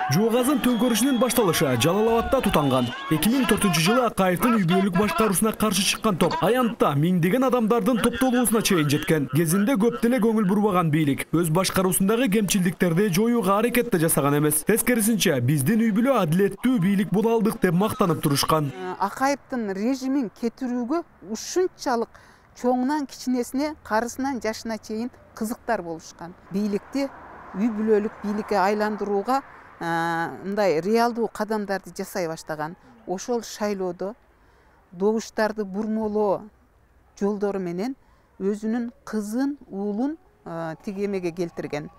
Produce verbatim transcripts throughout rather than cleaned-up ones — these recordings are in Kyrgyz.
Жугазын төңкөрүшүнүн башталышы Жалал Абадта тутанган. эки миң төртүнчү жылы Акаевдин үй бүлөлүк башкаруусуна каршы чыккан топ аянтта миңдеген адамдардын топтолуусуна чейин жеткен. Кезинде көп деле көңүл бурбаган бийлик өз башкаруусундагы кемчилдиктерди жоюуга аракет да жасаган эмес. Тескерисинче, биздин үй бүлө адилеттүү бийлик боло алдык деп мактанып турушкан. Акаевдин режимин кетирүүгө ушунчалык чоңунан кичинесине, карысынан жашына чейин кызыктар болушкан. Бийликти үй бүлөлүк бийликке айландырууга мындай реалдуу кадамдарды жасай баштаган. Ошол шайлоодо добуштарды бурмолоо жолдору менен өзүнүн кызын, уулун тиги эмеге келтирген.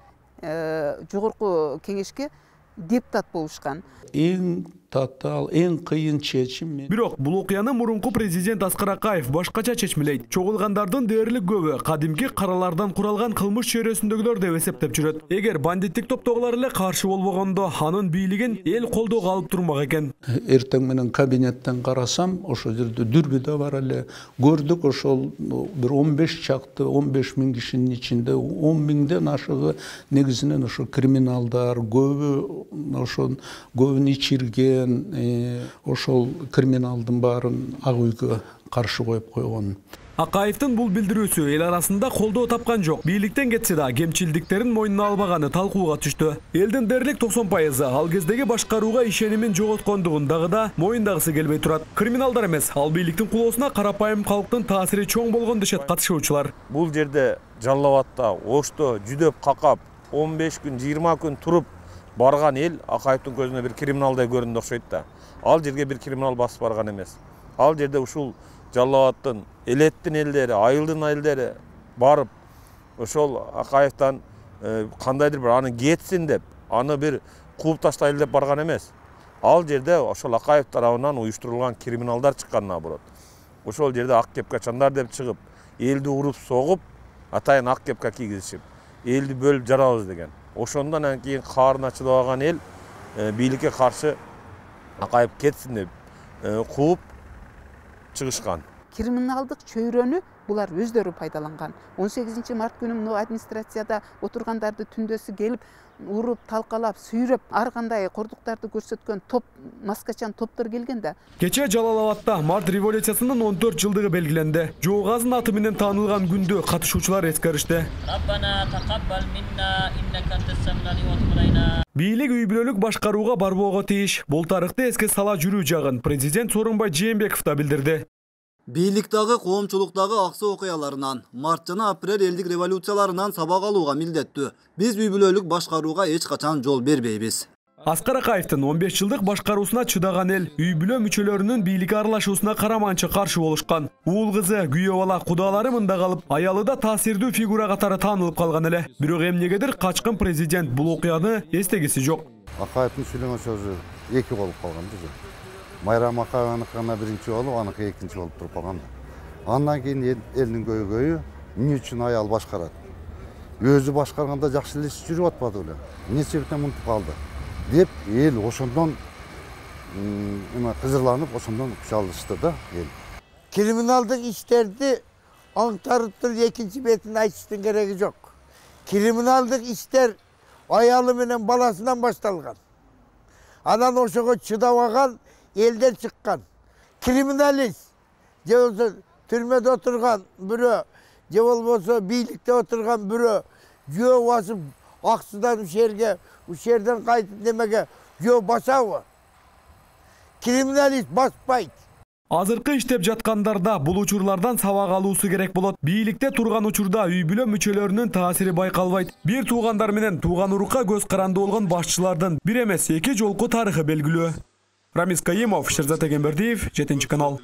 Жогорку кеңешке депутат болушкан. Эң татаал, эң кыйын чечим. Бирок бул окуяны мурунку президент Аскар Акаев башкача чечмелейт. Чогулгандардын дээрлик көбү кадимки каралардан куралган кылмыш чөйрөсүндөгүлөр деп эсептеп жүрөт. Эгер бандиттик топтогулар эле каршы болбогондо, анын бийлигин эл колдоого алып турмак экен. Эртең менен кабинеттен карасам, ошол жерде дүрбү да бар эле. Көрдүк, ошол бир он беш чакты, он беш миң кишинин ичинде он миңден ашыгы негизинен ошо криминалдар, көбү ошол көбүн ичирген, ошол криминалдын баарын ак үйгө каршы коюп койгон. Акаевдин бул билдирүүсү эл арасында колдоо тапкан жок. Бийликтен кетсе да кемчилдиктерин мойнуна албаганы талкууга түштү. Элдин дээрлик токсон пайызы ал кездеги башкарууга ишенимин жоготкондугун дагы да моюндагысы келбей турат. Криминалдар эмес, ал бийликтин кулоосуна карапайым калктын таасири чоң болгон дешет катышуучулар. Бул жерде Жалал Абадта Ошто жүдөп какап он беш күн, жыйырма күн туруп барган эл Акаевдин көзүнө бир криминалдай көрүндү окшойт да. Ал жерге бир криминал басып барган эмес. Ал жерде ушул Жалал Абадтын элеттин элдери, айылдын айылдары барып, ошол Акаевден кандайдыр бир аны кетсин деп, аны бир кууп таштайлы деп барган эмес. Ал жерде ошол Акаев тарабынан уюштурулган криминалдар чыккан наоборот. Ошол жерде ак кепкачандар деп чыгып, элди уруп согуп, атайын ак кепка кийгизишип, элди бөлүп жарабыз деген. Ошондон кийин каарына чыдабаган эл бийликке каршы Акаев кетсин деп кууп чыгышкан. Криминалдык чөйрөнү булар өздөрү пайдаланган. он сегизинчи март күнү мына администрацияда отургандарды түндөсү келип, уруп, талкалап, сүйрөп, ар кандай кордуктарды көрсөткөн топ, маскачан топтор келген да. Кече Жалал Абадта март революциясынын он төрт жылдыгы белгиленди. Жоогазын аты менен таанылган күндө катышуучулар эскеришти. Бийлик үй бүлөлүк башкарууга барбоого тийиш. Бул тарыхты эске сала жүрүү жагын президент Сооронбай Жээнбеков да билдирди. Бийликтагы коомчулуктагы аксы окуяларынан, март жана апрель элдик революцияларынан сабак алууга милдеттүү. Биз үй бүлөлүк башкарууга эч качан жол бербейбиз. Аскар Акаевдин он беш жылдык башкаруусуна чыдаган эл үй бүлө мүчөлөрүнүн бийликке аралашуусуна караманча каршы болушкан. Уул кызы, күйөө бала, кудалары мында калып, аялы да таасирдүү фигура катары таанылып калган эле. Бирок эмнегедир качкын президент бул окуяны эстегиси жок. Акаевдин сүйлөгөн сөзү эки болуп калган да. Майрам Акаевдин биринчи болуп, аныкы экинчи болуп туруп калган. Андан кийин элдин көйгөйү эмне үчүн аял башкарат? Өзү башкарганда жакшы эле иш жүрүп атпады беле. Эмне себептен мынтип калды? Деп эл ошондон эме кызырланып, ошондон күч алышты да эл. Криминалдык иштерди аңтарып туруп экинчи бетин айтыштын кереги жок. Криминалдык иштер аялы менен баласынан башталган. Анан ошого чыдабаган элдер чыккан. Криминалист, же болбосо түрмөдө отурган бирөө, же болбосо бийликте отурган бирөө жөө басып ак судан ушерге, ушерден кайтып немеге жөө басабы? Криминалист баспайт. Азыркы иштеп жаткандарда бул учурлардан сабак алуусу керек болот. Бийликте турган учурда үй бүлө мүчөлөрүнүн таасири байкалбайт. Бир туугандар менен тууган урукка көз каранды болгон башчылардын бир эмес эки жолку тарыхы белгилүү. Рамис Каимов, Шерзат Эгембердиев, жетинчи канал.